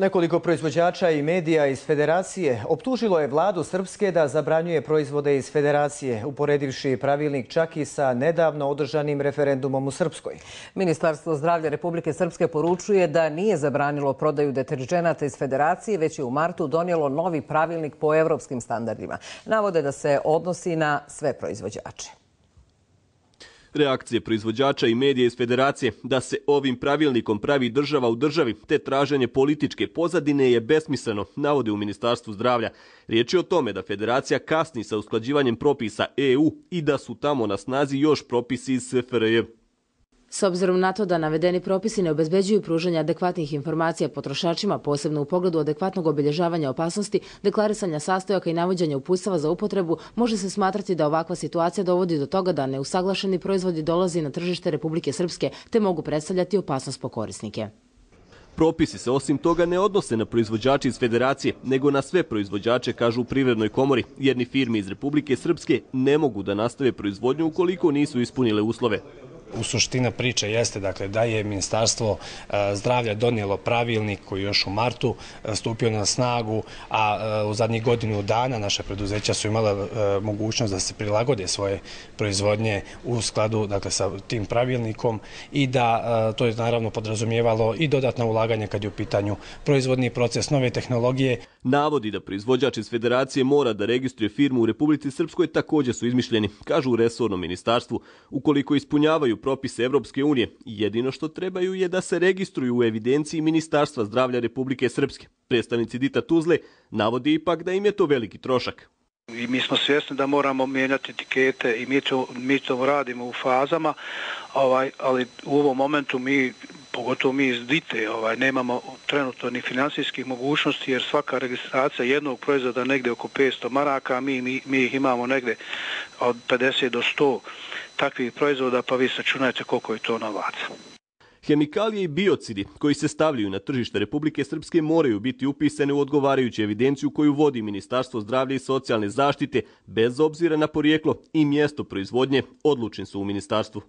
Nekoliko proizvođača i medija iz Federacije optužilo je vladu Srpske da zabranjuje proizvode iz Federacije, uporedivši pravilnik čak i sa nedavno održanim referendumom u Srpskoj. Ministarstvo zdravlja Republike Srpske poručuje da nije zabranilo prodaju deterdženata iz Federacije, već je u martu donijelo novi pravilnik po evropskim standardima. Navode da se odnosi na sve proizvođače. Reakcije proizvođača i medija iz Federacije da se ovim pravilnikom pravi država u državi te traženje političke pozadine je besmisleno, navode u Ministarstvu zdravlja. Riječ je o tome da Federacija kasni sa usklađivanjem propisa EU i da su tamo na snazi još propisi iz SFRJ. S obzirom na to da navedeni propisi ne obezbeđuju pružanje adekvatnih informacija potrošačima, posebno u pogledu adekvatnog obilježavanja opasnosti, deklarisanja sastojaka i navođenja uputstava za upotrebu, može se smatrati da ovakva situacija dovodi do toga da neusaglašeni proizvodi dolazi na tržište Republike Srpske te mogu predstavljati opasnost po korisnike. Propisi se osim toga ne odnose na proizvođače iz Federacije, nego na sve proizvođače, kažu u Privrednoj komori, jer ni firme iz Republike Srpske ne mogu da nastave proizvodnju ukoliko nisu ispunile uslove. U suština priče jeste da je Ministarstvo zdravlja donijelo pravilnik koji još u martu stupio na snagu, a u zadnjih godinu dana naše preduzeća su imala mogućnost da se prilagode svoje proizvodnje u skladu sa tim pravilnikom i da to je naravno podrazumijevalo i dodatna ulaganja kad je u pitanju proizvodni proces, nove tehnologije. Navodi da proizvođač iz Federacije mora da registruje firmu u Republici Srpskoj također su izmišljeni, kažu u resornom ministarstvu, ukoliko ispunjavaju propise Evropske unije. Jedino što trebaju je da se registruju u evidenciji Ministarstva zdravlja Republike Srpske. Predstavnici Dita Tuzle navodi ipak da im je to veliki trošak. I mi smo svjesni da moramo mijenjati etikete i mi to radimo u fazama, ali u ovom momentu pogotovo mi iz Dite, nemamo trenutno ni finansijskih mogućnosti jer svaka registracija jednog proizvoda negdje oko 500 maraka, mi ih imamo negdje od 50 do 100 takvih proizvoda, pa vi sačunajte koliko je to novaca. Hemikalije i biocidi koji se stavljaju na tržište Republike Srpske moraju biti upisane u odgovarajuću evidenciju koju vodi Ministarstvo zdravlja i socijalne zaštite bez obzira na porijeklo i mjesto proizvodnje, odlučni su u ministarstvu.